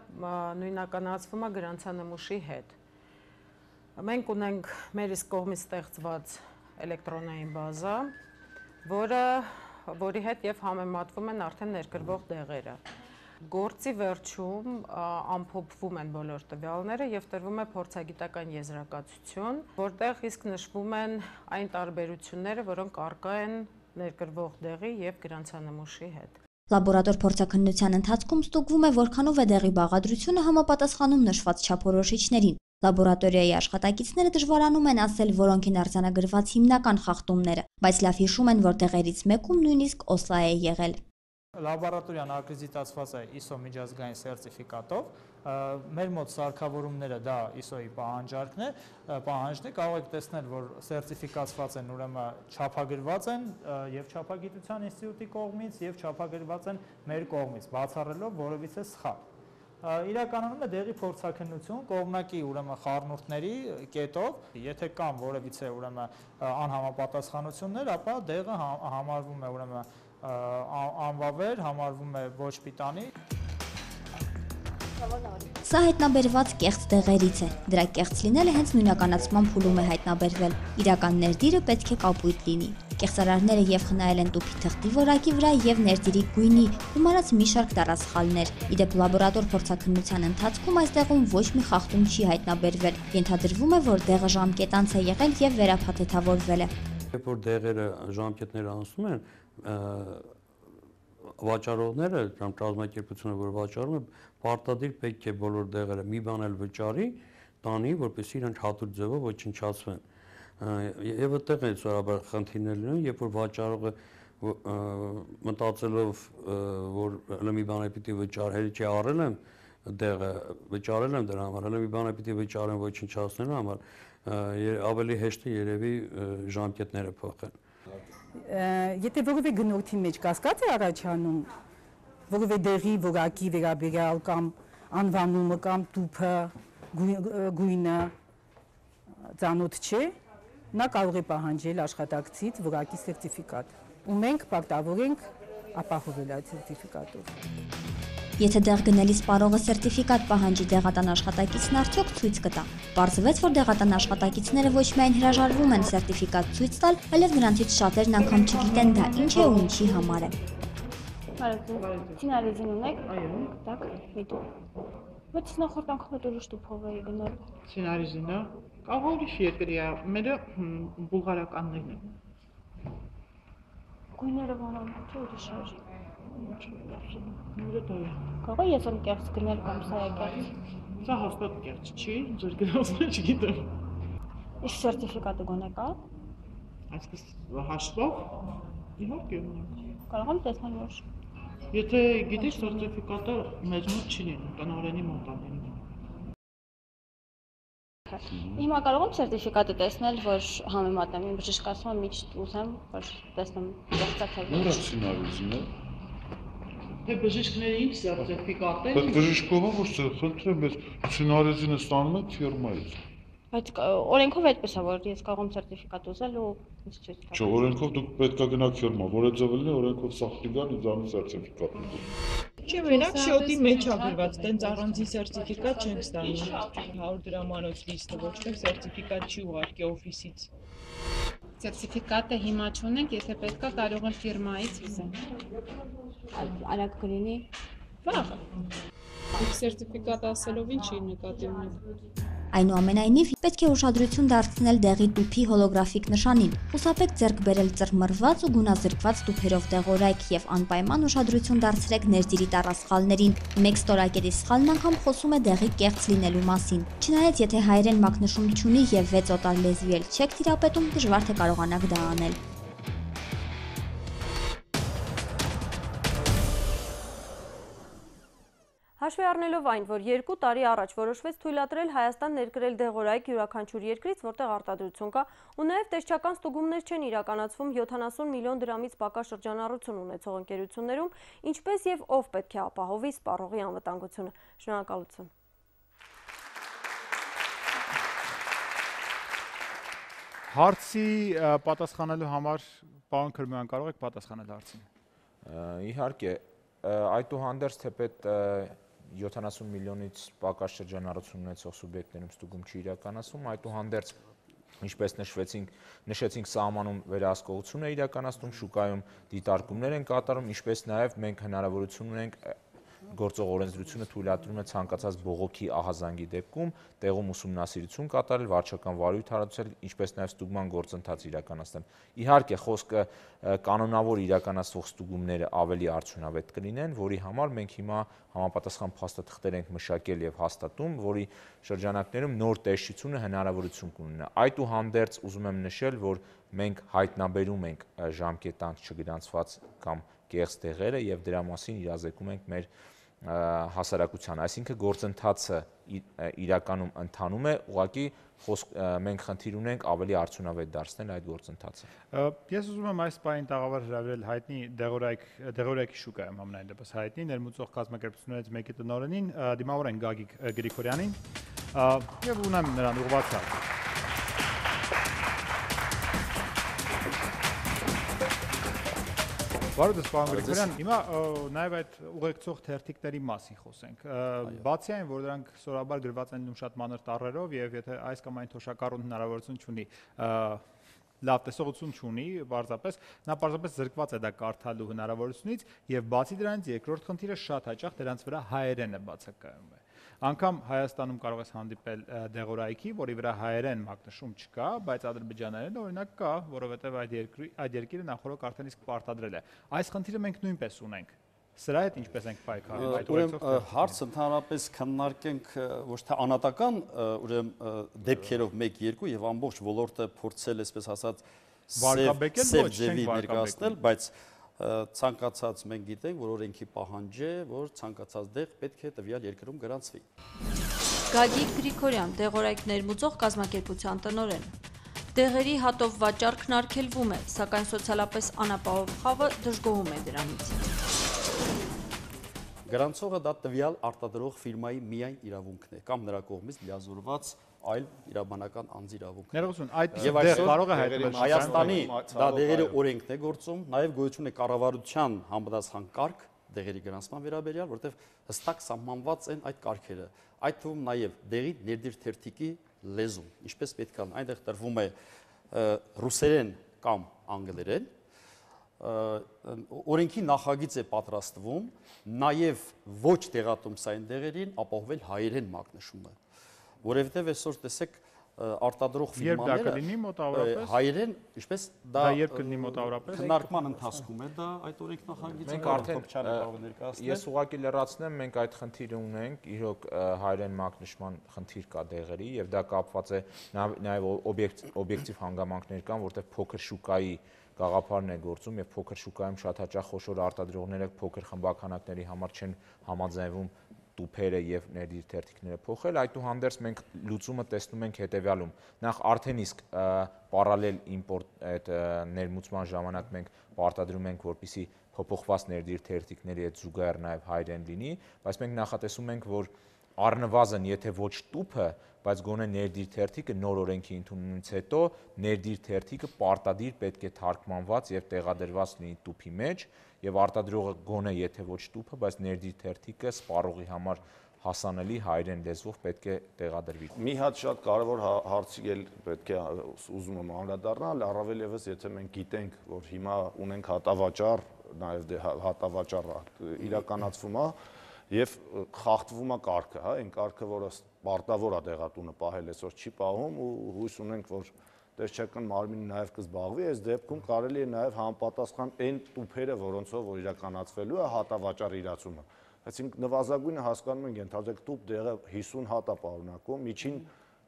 նույնականացվում է գրանցանմուշի հետ։ Մենք ունենք մեր իսկ կողմից ստեղծված էլեկտրոնային բազա, որը որի հետ եւ համեմատվում են արդեն ներկրվող դեղերը։ Գործի վերջում ամփոփվում են բոլոր տվյալները եւ տրվում է փորձագիտական եզրակացություն, որտեղ իսկ նշվում են այն տարբերությունները, որոնք առկա են ներկրվող դեղի եւ գրանցանմուշի հետ։ Լաբորատոր փորձաքննության ընթացքում ստուգվում է, որքանով է դեղի բաղադրությունը համապատասխանում նշված չափորոշիչներին։ Լաբորատորիայի աշխատակիցները դժվարանում են ասել, որոնք են արձանագրված հիմնական խախտումները, բայց լավ հիշում են, որ դեղերից մեկում նույնիսկ օսլա է եղել։ Լաբորատորիան ակրեդիտացված է I S O միջազգային սերտիֆիկատով, մեր մոտ սարքավորումները դա I S O-ի պահանջարկն է, պահանջն է, կարող եք տեսնել, որ սերտիֆիկացված են, ուրեմն չափագրված են եւ Չափագիտության ինստիտուտի կողմից եւ չափագրված են մեր կողմից, բացառելով որևիցե սխալ։ Իրականանում է դեղի փորձաքննություն կողմնակի ուրեմն խառնուրդների կետով, եթե կան որևիցե ուրեմն անհամապատասխանություններ, ապա դեղը համարվում է ուրեմն անվավեր, համարվում է ոչ պիտանի։ Սա հայտնաբերված կեղծ դեղերից է։ Դրա կեղծ լինելը հենց նույնականացման փուլում է հայտնաբերվել։ Իրական ներդիրը պետք է կապույտ լինի։ Կեղծարարները եւ խնայել են տուփի թղթի որակի վրա եւ ներդիրի գույնի, գումարած մի շարք տարածխալներ։ Իդեպ լաբորատոր փորձաքննության ընթացքում այստեղում ոչ մի խախտում չի հայտնաբերվել։ Ենթադրվում է, որ դեղը ժամկետանց է եղել եւ վերափաթեթավորվել է։ Երբ որ դեղերը ժամկետները անցնում են, վաճառողները, կամ կազմակերպությունը, որ վաճառում է, պարտադիր պետք է բոլոր դեղերը մի բան էլ վճարի, տանի, որպեսզի իրենք հատուկ ձևով ոչնչացվեն։ Եվ այդտեղ է սովորաբար խնդիրներ լինում, երբ որ վաճառողը մտածելով, որ հələ մի բան է պիտի վճարել, չի առել եմ դեղը, վճարել եմ դրա համար, հələ մի բան է պիտի վճարեմ ոչնչացնելու համար, ավելի հեշտ է երևի ժամկետները փոխեն։ Եթե որևէ գնորդի մեջ կասկած է առաջանում, որևէ դեղի որակի վերաբերյալ կամ անվանումը կամ տուփը, գույնը ծանոթ չէ, նա կարող է պահանջել աշխատակցից որակի սերտիֆիկատ, ու մենք պարտավոր ենք ապահովել այդ սերտիֆիկատով։ Եթե դեղ գնելիս պարողը սերտիֆիկատ պահանջի դեղատան աշխատակիցն արդյոք ցույց կտա։ Պարզվեց, որ դեղատան աշխատակիցները ոչ միայն հրաժարվում են սերտիֆիկատ ցույց տալ, այլև նրանցից շատերն անգամ չգիտեն դա ինչ է ու ինչի համար է։ Ցինարեզին ունեք։ Այո։ Так, միտու։ Բայց նախորդ անգամ այդ ուրիշ տուփով էի գնել։ Ցինարեզինը կարող է ուրիշ երկրի է, մերը բուլղարականներն են։ Գույները բանան, չէ ուրիշ է։ Կարող է ես ում կեղծ գնել կամ սա է կեղծ։ Սա հաստատ կեղծ չի, ձեր գնացնը չգիտեմ։ Իսկ սերտիֆիկատը գոնե կա։ Այսպես հաշվով իհարկե ունենք։ Կարող եմ տեսնել որ։ Եթե գիտես սերտիֆիկատը մեծ մոտ չի լինում, տնօրենի մոտ է լինում։ Հիմա կարող եմ սերտիֆիկատը տեսնել, որ համեմատեմ, իմ բժիշկ ասում է միշտ ուզեմ, որ տեսնեմ կեղծա թե ոչ։ Նորա ցինարեզինը։ Թե բժիշկների ինչ սերտիֆիկատ է։ Բայց բժիշկովը որ խնդրեմ, ես ցինարեզինը ստանում եմ ֆիրմայից։ Բայց օրենքով այդպես է, որ ես կարող եմ սերտիֆիկատ ուզել ու ինձ ցույց տալ։ Չէ, օրենքով դուք պետք է գնաք ֆիրմա, որը ձևելն է, օրենքով սախտիգան իզանի սերտիֆիկատ։ Չէ, մենակ շոտի մեջ է գրված, տենց առանձին սերտիֆիկատ չենք ստանում։ հարյուր դրամանոց լիստը ոչ թե սերտիֆիկատ չի ուղարկի օֆիսից։ Սերտիֆիկատը հիմա չունենք, եթե պետքա կարող եմ ֆիրմայից ուզեմ։ Արագ կլինի։ Վաղը։ Իսկ սերտիֆիկատ ասելով ինչի նկատի ունեք։ Այնուամենայնիվ, պետք է ուշադրություն դարձնել դեղի տուփի հոլոգրաֆիկ նշանին, խուսափեք ձեռք բերել ծռմռված ու գունազրկված տուփերով դեղորայք եւ անպայման ուշադրություն դարձրեք ներդիրի տառասխալներին։ Մեկ ստորակերի սխալն անգամ խոսում է դեղի կեղծ լինելու մասին։ Չնայած եթե հայերեն մակնշուն չունի եւ վեց օտար լեզվի էլ չեք տիրապետում, դժվար թե կարողանաք դա անել։ Հաշվի առնելով այն, որ երկու տարի առաջ որոշվեց թույլատրել Հայաստան ներկրել դեղորայք յուրաքանչյուր երկրից, որտեղ արտադրություն կա, ու նաև տեսչական ստուգումներ չեն իրականացվում յոթանասուն միլիոն դրամից պակաս շրջանառություն ունեցող ընկերություններում, ինչպես եւ ով պետք է ապահովի սպառողի անվտանգությունը։ Շնորհակալություն։ Հարցի պատասխանելու համար պարոն Քրմյան կարող եք պատասխանել հարցին։ Իհարկե, այդուհանդերձ թեպետ յոթանասուն միլիոնից պակաս շրջանառություն ունեցող սուբյեկտներում ստուգում չի իրականացվում, այդուհանդերձ ինչպես նշվեցինք, նշեցինք սահմանում վերահսկողություն է իրականացնում, շուկայում դիտարկումներ են կատարում, ինչպես նաև մենք հնարավորություն ունենք գործող օրենսդրությունը թույլատրում է ցանկացած բողոքի ահազանգի դեպքում տեղում ուսումնասիրություն կատարել, վարչական վարույթ հարուցել, ինչպես նաև ստուգման գործընթաց իրականացնել։ Իհարկե, խոսքը կանոնավոր իրականացվող ստուգումները ավելի արդյունավետ կլինեն, որի համար մենք հիմա համապատասխան փաստաթղթեր ենք մշակել եւ հաստատում, որի շրջանակներում նոր տեսչությունը հնարավորություն կունենա։ Այդուհանդերձ ուզում եմ նշել, որ մենք հայտնաբերում ենք ժամկետանք չգրանցված կամ կեղծ դեղերը եւ դրա մասին իրազեկում ենք մեր հասարակությանը, այսինքն գործընթացը իրականում ընթանում է, ուղղակի մենք խնդիր ունենք ավելի արդյունավետ դարձնել այդ գործընթացը։ Ես ուզում եմ այս պահին տաղավար հրավիրել հայտնի դեղորայքի շուկայում ամենայն դեպս հայտնի ներմուծող կազմակերպություններից մեկի տնօրենին, դիմավոր են Գագիկ Գրիգորյանին, եւ ունեմ նրան ուղղված հարց։ Բարոյ պարոն Գրիգորյան, հիմա նաև այդ ուղեկցող թերթիկների մասին խոսենք։ Բացի այն, որ դրանք սովորաբար գրված են լինում շատ մանր տառերով եւ եթե այս կամ այն թոշակառուն հնարավորություն չունի, լավ տեսողություն չունի, պարզապես նա պարզապես զրկված է դա կարդալու հնարավորությունից եւ բացի դրանից երկրորդ խնդիրը շատ հաճախ դրանց վրա հայերենը բացակայում է։ Անկամ Հայաստանում կարող ես հանդիպել դեղորայքի, որի վրա հայերեն մակնշում չկա, բայց ադրբեջաներեն օրինակ կա, որովհետև այդ երկրի այդ երկիրը նախորդ արդեն իսկ պարտադրել է։ Այս խնդիրը մենք նույնպես ունենք։ Սրա հետ ինչպես ենք պայքարում այդ օրենքով։ Հարցը ընդհանրապես քննարկենք ոչ թե անատական, ուրեմն դեպքերով մեկ երկու եւ ամբողջ ոլորտը փորձել այսպես ասած սև ձևի ներկայացնել, բայց ցանկացած մենք գիտենք, որ օրենքի պահանջ է, որ ցանկացած դեղ պետք է տվյալ երկրում գրանցվի։ Գագիկ Գրիգորյան, դեղորայք ներմուծող կազմակերպության տնօրեն։ Դեղերի հատով վաճառքն արգելվում է, սակայն սոցիալապես անապահով խավը դժգոհում է դրանից։ Գրանցողը դա տվյալ արտադրող ֆիրմայի միայն իրավունքն է կամ նրա կողմից լիազորված այլ իրավաբանական անձի իրավունքն։ Ներողություն, այդ դեղ կարող է հայտնվել Հայաստանի դա դեղերի օրենքն է գործում, նաև գոյություն է կառավարության համապատասխան կարգ դեղերի գրանցման վերաբերյալ, որտեղ հստակ սահմանված են այդ կարգերը։ Այդ թվում նաև դեղի ներդիր թերթիկի լեզուն, ինչպես պետք է, այնտեղ տրվում է ռուսերեն կամ անգլերեն, օրենքի նախագիծ է պատրաստվում նաև ոչ տեղատոմսային դեղերին ապահովել հայերեն մակնշումը, որովհետև այսօր տեսեք արտադրող ֆիրմաները հայերեն, ինչպես դա քննարկման ընթացքում է դա այդ օրենք նախագիծը։ Մենք արդեն ես ուղղակի լրացնեմ, մենք այդ խնդիրը ունենք, իրոք հայերեն մակնշման խնդիր կա դեղերի եւ դա կապված է նաեւ օբյեկտիվ հանգամանքներ կան, որտեղ փոքր շուկայի գաղափարն է գործում եւ փոքր շուկայում շատ հաճախ խոշոր արտադրողները փոքր խմբականակների համար չեն համաձայնվում տուփերը եւ ներդիր թերթիկները փոխել, այդուհանդերձ մենք լուծումը տեսնում ենք հետեւյալում։ Նախ արդեն իսկ պարալել իմպորտ այդ ներմուծման ժամանակ մենք պարտադրում ենք, որպեսզի փոփոխված ներդիր թերթիկների այդ զուգահեռ նաեւ հայերեն լինի, բայց մենք նախատեսում ենք, որ առնվազն եթե ոչ տուփը, բայց գոնե ներդիր թերթիկը նոր օրենքի ընդունումից հետո ներդիր թերթիկը պարտադիր պետք է թարգմանված եւ տեղադրված լինի տուփի մեջ եւ արտադրողը գոնե եթե ոչ տուփը, բայց ներդիր թերթիկը սպառողի համար հասանելի հայերեն լեզվով պետք է տեղադրվի։ Մի հատ շատ կարևոր հարցի էլ պետք է ուզում եմ անդրադառնալ, առավել եւս եթե մենք գիտենք, որ հիմա ունենք հատավաճառ, նաեւ հատավաճառ իրականացվում է եւ խախտվում է կարգը, հա, այն կարգը, որը պարտավոր է դեղատունը պահել, այսօր չի պահում ու հույս ունենք, որ տեսչական մարմինը նաև կզբաղվի, այս դեպքում կարելի է նաև համապատասխան այն տուփերը, որոնցով որ իրականացվելու է հատավաճառ իրացումը։ Այսինքն նվազագույնը հասկանում ենք, ենթադրեք տուփ դեղը հիսուն հատ է պարունակում, միջին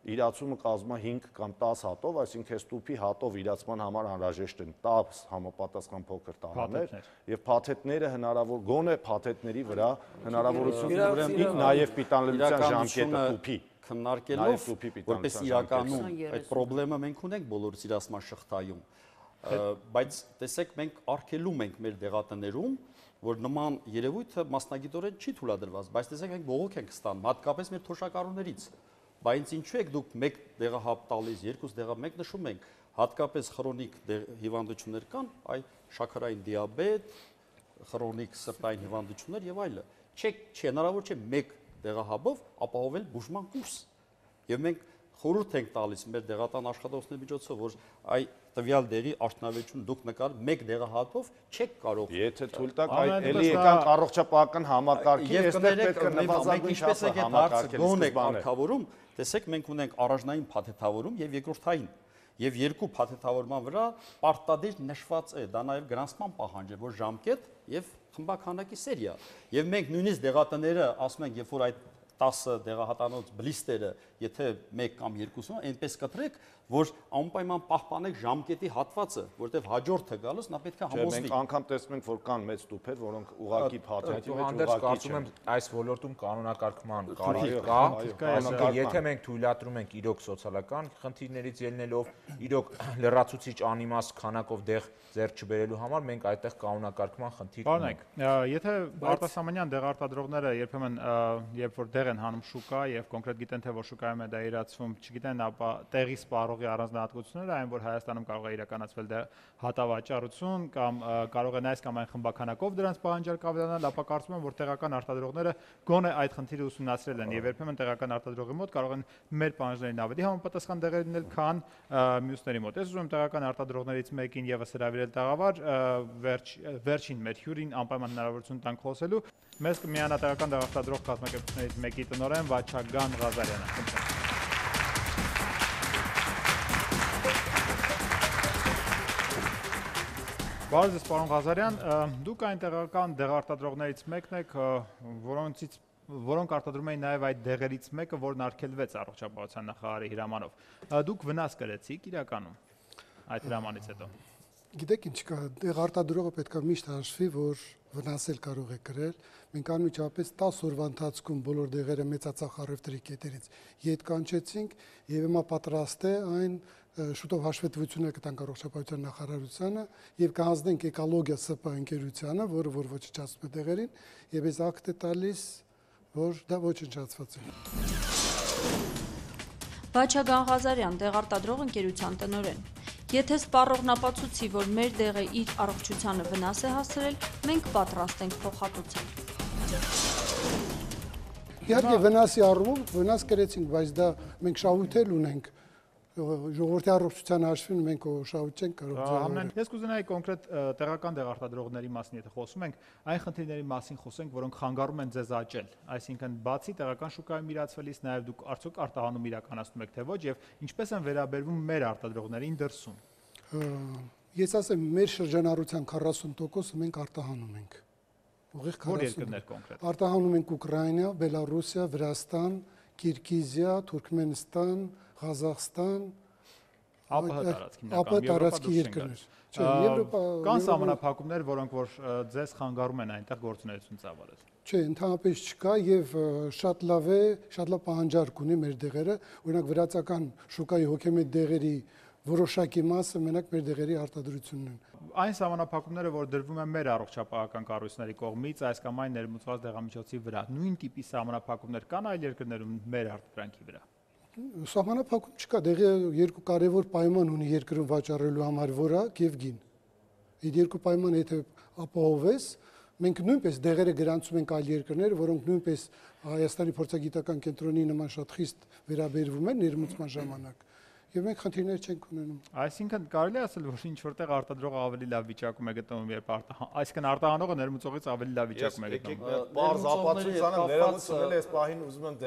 իրացումը կազմում է հինգ կամ տաս հատով, այսինքն այս տուփի հատով իրացման համար անհրաժեշտ են տաս համապատասխան փոքր տարաներ եւ փաթեթները հնարավոր գոնե փաթեթների վրա հնարավորություն ուրեմն նաև պիտանելիության ժամկետը տուփի քննարկելով, որպես իրականում այդ խնդրեմը մենք ունենք բոլորս իրացման շղթայում, բայց տեսեք մենք արգելում ենք մեր դեղատներում, որ նման երևույթը մասնագիտորեն չի թույլատրված, բայց տեսեք մենք բողոք ենք ստանում, հատկապես մեր թոշակառուներից, բայց ինչու եք դուք մեկ դեղահապ տալիս, երկուս դեղա մեկ նշում ենք, հատկապես քրոնիկ հիվանդություններ կան, այ շաքարային դիաբետ, քրոնիկ սրտային հիվանդություններ եւ այլը, չեք, չի հնարավոր չէ մեկ դեղահաբով ապահովել բուժման կուրս։ Եվ մենք խորհուրդ ենք տալիս մեր դեղատան աշխատողների միջոցով, որ այ տվյալ դեղի արդյունավետություն դուք նկար մեկ դեղահատով չեք կարող։ Եթե թույլ տաք, այ էլի եկանք առողջապահական համակարգի, այստեղ պետք է նվազագույն չափը համակարգել գոնե կարգավորում, տեսեք մենք ունենք առաջնային փաթեթավորում եւ երկրորդային։ Եվ երկու փաթեթավորման վրա պարտադիր նշված է, դա նաև գրանցման պահանջ է, որ ժամկետ եւ խմբականակի սերիա։ Եվ մենք նույնիսկ դեղատները ասում ենք, երբ որ այդ տասը դեղահատանոց բլիստերը, եթե մեկ կամ երկուսն, այնպես կտրեք, որ անպայման պահպանեք ժամկետի հատվածը, որտեղ հաջորդը գալուց նա պետք է համոզվի։ Մենք անգամ տեսնում ենք, որ կան մեծ տուփեր, որոնք ուղղակի փաթեթի մեջ ուղղակի կարծում եմ այս ոլորտում կանոնակարգման կարիք կա, այսինքն եթե մենք թույլատրում ենք իրոք սոցիալական խնդիրներից ելնելով, իրոք լրացուցիչ անիմաստ քանակով դեղ ձեռք չբերելու համար մենք այդտեղ կանոնակարգման խնդիր ունենք։ Եթե արտասահմանյան դեղարտադրողները երբեմն երբ որ դեղ են հանում շուկա եւ կոնկրետ գիտեն թե որ շուկա շուկայում է դա իրացվում, չգիտեն, ապա տեղի սպառողի առանձնահատկությունները այն, որ Հայաստանում կարող է իրականացվել հատավաճառություն կամ կարող է այս կամ այն խմբականակով դրանց պահանջարկ ավելանալ, ապա կարծում եմ, որ տեղական արտադրողները գոնե այդ խնդիրը ուսումնասիրել են եւ երբեմն տեղական արտադրողի մոտ կարող են մեր պահանջներին ավելի համապատասխան դեղեր լինել, քան մյուսների մոտ։ Ես ուզում եմ տեղական արտադրողներից մեկին եւս հրավիրել տաղավար, վերջ, վերջին մեր հյուրին անպայման հնարավորություն տանք խոսելու։ Մեզ կմիանա տեղական դեղարտադրող կազմակերպություններից մեկի տնօրեն Վաչագան Ղազարյանը։ Բարև ձեզ, պարոն Ղազարյան, դուք այն տեղական դեղարտադրողներից մեկն եք, որոնցից որոնք արտադրում էին նաև այդ դեղերից մեկը, որն արգելվեց առողջապահության նախարարի հրամանով։ Դուք վնաս կրեցիք իրականում այդ հրամանից հետո։ Գիտեք ինչ կա, դեղարտադրողը պետք է միշտ հաշվի, որ վնասել կարող է կրել։ Մենք անմիջապես տասը օրվա ընթացքում բոլոր դեղերը մեծածախ առևտրի կետերից ետ կանչեցինք եւ հիմա պատրաստ է այն շուտով հաշվետվությունը կտանք առողջապահության նախարարությանը եւ կհանձնենք Էկոլոգիա ՍՊ ընկերությանը, որը որ ոչնչացնում է դեղերին, եւ այս ակտ է տալիս, որ դա ոչնչացված է։ Վաչագան Ղազարյան, դեղարտադրող ընկերության տնօրեն։ Եթե սպառողն ապացուցի, որ մեր դեղը իր առողջությանը վնաս է հասցրել, մենք պատրաստ ենք փոխհատուցել։ Իհարկե վնասի առումով վնաս կրեցինք, բայց դա մենք շահույթ ունենք։ Ժողովրդի առողջության հաշվին մենք շահույթ չենք կարող ձեռնարկել։ Ես կուզենայի կոնկրետ տեղական դեղարտադրողների մասին, եթե խոսում ենք, այն խնդիրների մասին խոսենք, որոնք խանգարում են ձեզ աճել։ Այսինքն, բացի տեղական շուկայում իրացվելից, նաև դուք արդյոք արտահանում իրականացնում եք, թե ոչ, եւ ինչպես են վերաբերվում մեր արտադրողներին դրսում։ Ես ասեմ, մեր շրջանառության քառասուն տոկոսը մենք արտահանում ենք։ Ուղիղ Որ երկրներ կոնկրետ։ Արտահանում ենք Ուկրաինա, Բելարուսիա, Վրաստան, Կիրգիզիա, Թուրքմենստան, Ղազախստան, ԱՊՀ տարածքի երկրներ։ Կան սահմանափակումներ, որոնք որ ձեզ խանգարում են այնտեղ գործունեություն ծավալել։ Չէ, ընդհանրապես չկա եւ շատ լավ է, շատ լավ պահանջարկ ունի մեր դեղերը, օրինակ վրացական շուկայի հոգեմետ դեղերի որոշակի մասը մենակ մեր դեղերի արտադրությունն են։ Այն սահմանափակումները, որ դրվում են մեր առողջապահական կառույցների կողմից, այս կամ այն ներմուծված դեղամիջոցի վրա, նույն տիպի սահմանափակումներ կան այլ երկրներում մեր արտադրանքի վրա։ Սահմանափակում չկա, դեղը երկու կարևոր պայման ունի երկրում վաճառելու համար՝ որակ եւ գին։ Այդ երկու պայմանը եթե ապահովես, մենք նույնպես դեղերը գրանցում ենք այլ երկրներ, որոնք նույնպես Հայաստանի փորձագիտական կենտրոնի նման շատ խիստ վերաբերվում են ներմուծման ժամանակ։ Եվ մենք խնդիրներ չենք ունենում։ Այսինքն կարելի է ասել, որ ինչ որտեղ արտադրողը ավելի լավ վիճակում է գտնվում, երբ այսինքն արտահանողը ներմուծողից ավելի լավ վիճակում է գտնվում։ Պարզ ապացույցանը ներմուծվել է, այս պահին ուզում են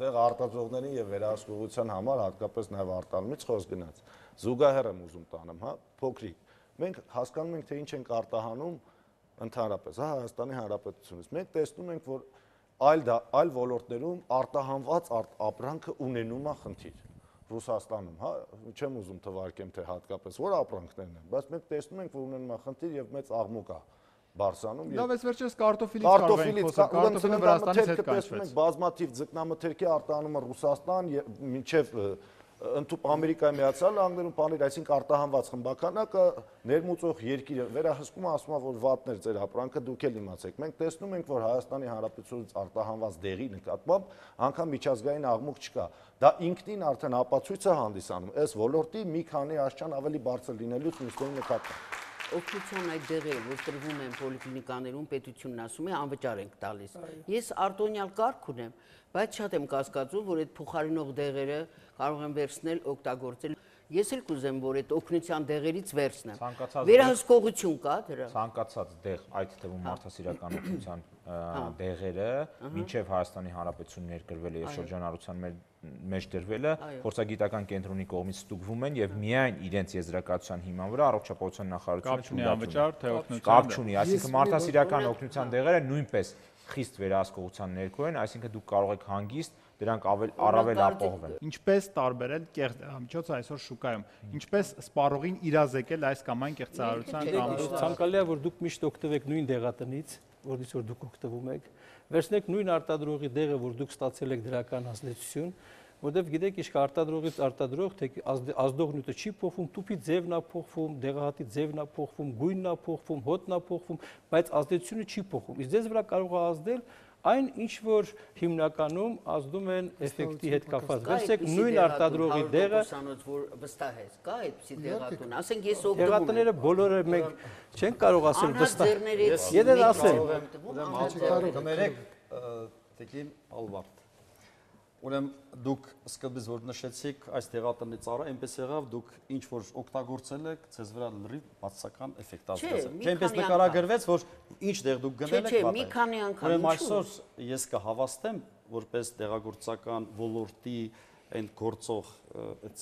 դեղ արտադրողներին եւ վերահսկողության համար հատկապես նաեւ արտանումից խոսք գնաց։ Զուգահեռ եմ ուզում տանեմ, հա, փոքրիկ։ Մենք հասկանում ենք, թե ինչ ենք արտահանում ընդհանրապես, հա, Հայաստանի Հանրապետությունից։ Մենք տեսնում ենք, որ այլ այլ ոլորտներում արտահանված ապրանքը ունենում է խնդիր։ Ռուսաստանում, հա, չեմ ուզում թվարկեմ, թե հատկապես որ ապրանքներն են, բայց մենք տեսնում ենք, որ ունենում է խնդիր եւ մեծ աղմուկ է Բարսանում։ Լավ, այս վերջերս կարտոֆիլից կարող ենք խոսել, կարտոֆիլը Վրաստանից հետ կանչվեց։ Բազմաթիվ ձկնամթերքի արտահանումը Ռուսաստան մինչև Ամերիկայի Միացյալ Նահանգներում բաներ, այսինքն արտահանված խմբականակը ներմուծող երկիրը վերահսկում ասում է, որ վատներ ձեր ապրանքը դուք էլ իմացեք։ Մենք տեսնում ենք, որ Հայաստանի Հանրապետությունից արտահանված դեղի նկատմամբ անգամ միջազգային աղմուկ չկա։ Դա ինքնին արդեն ապացույց է հանդիսանում այս ոլորտի մի քանի աշճան ավելի բարձր լինելուց մյուսների նկատմամբ։ Օգնության այդ դեղերը, որ տրվում են պոլիկլինիկաներում, պետությունն ասում է անվճար ենք տալիս։ Ես արտոնյալ կարգ ունեմ, բայց շատ եմ կասկածում, որ այդ փոխարինող դեղերը կարող են վերցնել, օգտագործել։ Ես էլ կուզեմ, որ այդ օգնության դեղերից վերցնեմ։ Վերահսկողություն կա դրա։ Ցանկացած դեղ, այդ թվում մարդասիրական օգնության դեղերը, մինչև Հայաստանի Հանրապետություն ներկրվել է եւ շրջանառության մեջ դրվել է, փորձագիտական կենտրոնի կողմից ստուգվում են եւ միայն իրենց եզրակացության հիման վրա առողջապահության նախարարությունը անվճար թե օգնության կապ չունի, այսինքն մարդասիրական օգնության դեղերը նույնպես խիստ վերահսկողության ներքո են, այսինքն դուք կարող եք հանգիստ դրանք առավել ապահովել։ Ինչպես տարբերել կեղծ դեղամիջոցը այսօր շուկայում, ինչպես սպառողին իրազեկել այս կամ այն կեղծարարության կամ ցանկալի է, որ դուք միշտ օգտվեք նույն դեղատնից, որից որ դուք օգտվում եք, վերցնեք նույն արտադրողի դեղը, որ դուք ստացել եք դրական ազդեցություն, որտեղ գիտեք ինչ կա արտադրողից արտադրող, թե ազդողնյութը չի փոխվում, տուփի ձևն է փոխվում, դեղահատի ձևն է փոխվում, գույնն է փոխվում, հոտն է փոխվում, բայց ազդեցությունը չի փոխվում։ Իսկ ձեզ վրա կարող է ազդել այն ինչ որ հիմնականում ազդում են էֆեկտի հետ կապված։ Վերցեք նույն արտադրողի դեղը, որ վստահես, կա այդպիսի դեղատուն, ասենք ես օգտվում եմ։ Դեղատները բոլորը մենք չենք կարող ասել վստահ։ Եթե ասեմ, կներեք, տիկին Ալվարդ։ Ուրեմն դուք սկզբից որ նշեցիք այս դեղատնի ծառը, այնպես եղավ դուք ինչ որ օգտագործել եք, ցեզ վրա լրիվ բացասական էֆեկտ ազդեցել։ Չէ, այնպես նկարագրվեց, որ ինչ դեղ դուք գնել եք, չէ, մի քանի անգամ։ Ուրեմն այսօր ես կհավաստեմ, որպես դեղագործական ոլորտի այն գործող այդ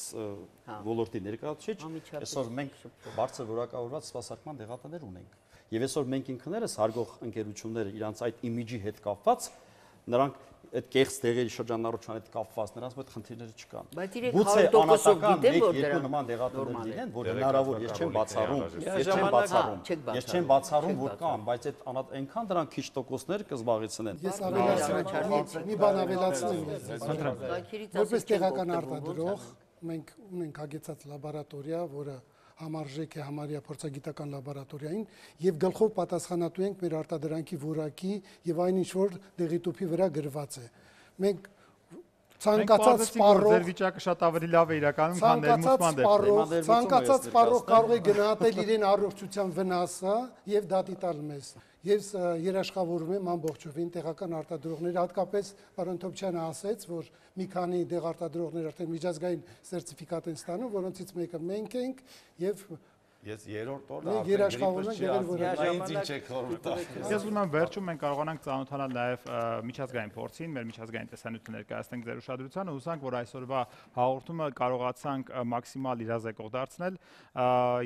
ոլորտի ներկայացուցիչ, այսօր մենք բարձր որակավորված սպասարկման դեղատներ ունենք։ Եվ այսօր մենք ինքներս հարգող ընկերությունները իրանց այդ իմիջի հետ կապված, նրանք այդ կեղծ դեղերի շրջանառության հետ կապված նրանց մոտ խնդիրները չկան։ Գուցե անհատական մեկ-երկու նման դեղատներ լինեն, որ հնարավոր ես չեմ բացառում, ես չեմ բացառում, ես չեմ բացառում, որ կան, բայց այդ այնքան դրանք քիչ տոկոսներ կզբաղեցնեն։ Ես ավելացնեմ, մի բան ավելացնեմ ես։ Որպես տեղական արտադրող մենք ունենք հագեցած լաբորատորիա, որը համարժեք է համարյա փորձագիտական լաբորատորիային եւ գլխով պատասխանատու ենք մեր արտադրանքի որակի եւ այն ինչ որ դեղի տուփի վրա գրված է։ Մենք ցանկացած սպառող ձեր վիճակը շատ ավելի լավ է իրականում, քան ներմուծման դեպքում։ Ցանկացած սպառող կարող է գնահատել իրեն առողջության վնասը եւ դատի տալ մեզ։ Ես երաշխավորում եմ ամբողջովին տեղական արտադրողները, հատկապես պարոն Թոփչյանը ասեց, որ մի քանի դեղ արտադրողներ արդեն միջազգային սերտիֆիկատ են ստանում, որոնցից մեկը մենք ենք եւ Ես երրորդ օրը երաշխավորում եմ դեղեր, որը Ես ուզում եմ վերջում մենք կարողանանք ծանոթանալ նաև միջազգային փորձին, մեր միջազգային տեսանյութը ներկայացնենք ձեր ուշադրությանը, հուսանք, որ այսօրվա հաղորդումը կարողացանք մաքսիմալ իրազեկող դարձնել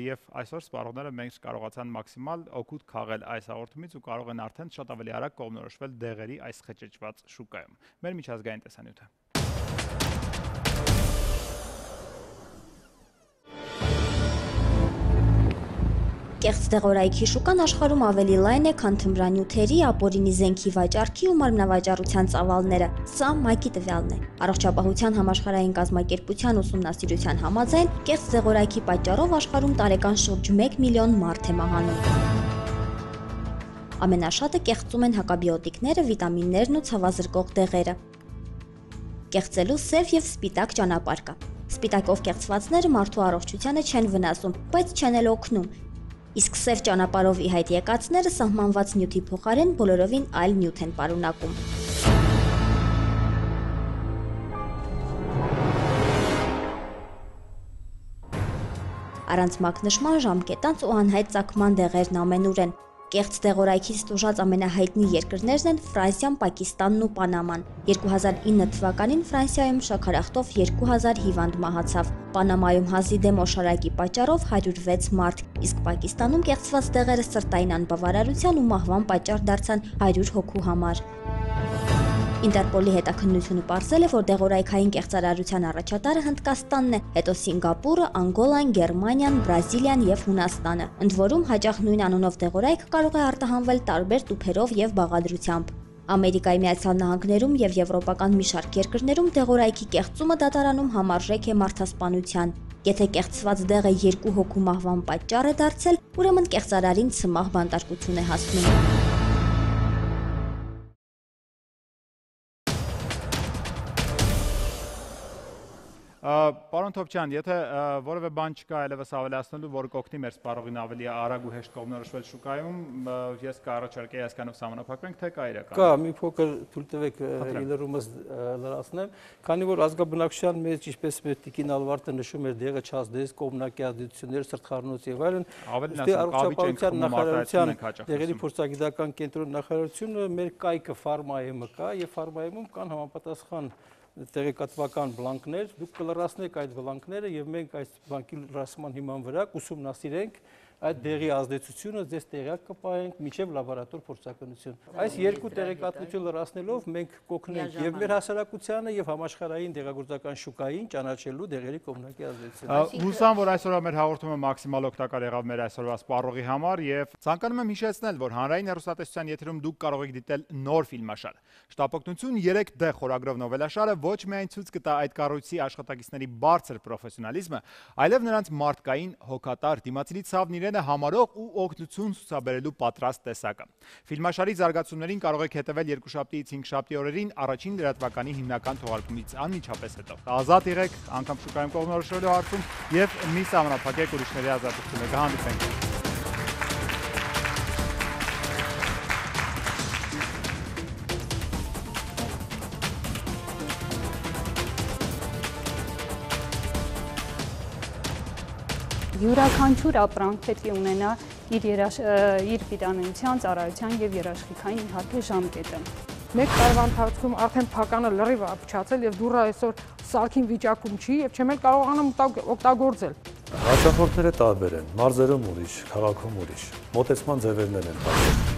եւ այսօր սպառողները մենք կարողացան մաքսիմալ օգուտ քաղել այս հաղորդումից ու կարող են արդեն շատ ավելի արագ կողմնորոշվել դեղերի այս խճճված շուկայում։ Մեր միջազգային տեսանյութը Կեղծ դեղորայքի շուկան աշխարհում ավելի լայն է, քան թմրանյութերի, ապօրինի զենքի վաճառքի ու մարմնավաճառության ծավալները։ Սա ՄԱԿ-ի տվյալն է։ Առողջապահության համաշխարհային կազմակերպության ուսումնասիրության համաձայն, կեղծ դեղորայքի պատճառով աշխարհում տարեկան շուրջ մեկ միլիոն մարդ է մահանում։ Ամենաշատը կեղծում են հակաբիոտիկները, վիտամիններն ու ցավազրկող դեղերը։ Կեղծելու սև եւ սպիտակ ճանապարհ կա։ Սպիտակով կեղծվածները մարդու առողջությանը չեն վնասում, բայց չեն էլ օգնում։ Իսկ սև ճանապարհով ի հայտ եկածները սահմանված նյութի փոխարեն բոլորովին այլ նյութ են պարունակում։ Առանց մակնշման ժամկետանց ու անհայտ ծագման դեղերն ամենուր են։ Կեղծ դեղորայքից տուժած ամենահայտնի երկրներն են Ֆրանսիան, Պակիստանն ու Պանաման։ երկու հազար ինը թվականին Ֆրանսիայում շաքարախտով երկու հազար հիվանդ մահացավ։ Պանամայում հազի դեմ օշարակի պատճառով հարյուր վեց մարդ, իսկ Պակիստանում կեղծված դեղերը սրտային անբավարարության ու մահվան պատճառ դարձան հարյուր հոգու համար։ Ինտերպոլի հետաքննությունը պարզել է, որ դեղորայքային կեղծարարության առաջատարը Հնդկաստանն է, հետո Սինգապուրը, Անգոլան, Գերմանիան, Բրազիլիան եւ Հունաստանը։ Ընդ որում հաճախ նույն անունով դեղորայք կարող է արտահանվել տարբեր տուփերով եւ բաղադրությամբ։ Ամերիկայի Միացյալ Նահանգներում եւ եվրոպական մի շարք երկրներում դեղորայքի կեղծումը դատարանում համարժեք է մարդասպանության։ Եթե կեղծված դեղը երկու հոգու մահվան պատճառ է դարձել, ուրեմն կեղծարարին ցմահ բանտարկություն է հասնում։ Պարոն Թոփչյան, եթե որևէ բան չկա այլևս ավելացնելու, որ կօգնի մեր սպառողին ավելի արագ ու հեշտ կողմնորոշվել շուկայում, ես կառաջարկեի այսքանով սահմանափակվենք, թե կա իրական։ Կա, մի փոքր թույլ տվեք իլրումս լրացնեմ, քանի որ ազգաբնակչության մեջ, ինչպես մեր տիկին Ալվարդը նշում էր, դեղը չազդես, կողմնակի ազդեցություններ, սրտխառնոց եւ այլն, առողջապահության նախարարության դեղերի փորձագիտական կենտրոնի նախարարությունը մեր կայքը ֆարմայեմը կա եւ ֆարմայեմում կան համապատասխան տեղեկատվական բլանկներ, դուք կլրացնեք այդ բլանկները եւ մենք այս բանկի լրացման հիման վրա կուսումնասիրենք այդ դեղի ազդեցությունը ձեզ տեղյակ կպահենք միջև լաբորատոր փորձականություն։ Այս երկու տեղեկատվություն լրացնելով մենք կօգնենք եւ մեր հասարակությանը եւ համաշխարհային դեղագործական շուկային ճանաչելու դեղերի կողմնակի ազդեցությունը։ Հուսամ, որ այսօրվա մեր հաղորդումը մաքսիմալ օգտակար եղավ մեր այսօրվա սպառողի համար եւ ցանկանում եմ հիշեցնել, որ հանրային հեռուստատեսության եթերում դուք կարող եք դիտել նոր ֆիլմաշար։ Շտապօգնություն երեք դե խորագրով նովելաշարը ոչ միայն ցույց կտա այդ կառույցի աշխատակիցների բարձր պրոֆեսիոնալիզմը, այլև նրանց մարդկային հոգատար դիմացինի ցավն իրենը համարող ու օգնություն ցուցաբերելու պատրաստ տեսակը։ Ֆիլմաշարի զարգացումներին կարող եք հետևել երկուշաբթիից հինգշաբթի օրերին առաջին լրատվականի հիմնական թողարկումից անմիջապես հետո։ Ազատ եղեք, անգամ շուկայում կողմնորոշվելու հարցում եւ մի սահմանափակեք ուրիշների ազատությունը։ Կհանդիպենք։ Յուրաքանչյուր ապրանք պետք է ունենա իր իր պիտանության, ծառայության եւ երաշխիքային իհարկե ժամկետը։ Մեկ տարվա ընթացքում արդեն փականը լրիվ ապչացել եւ դուռը այսօր սարքին վիճակում չի եւ չեմ էլ կարողանում օգտագործել։ Հաճախորդները տարբեր են, մարզերում ուրիշ, քաղաքում ուրիշ, մոտեցման ձևերներ են տարբեր։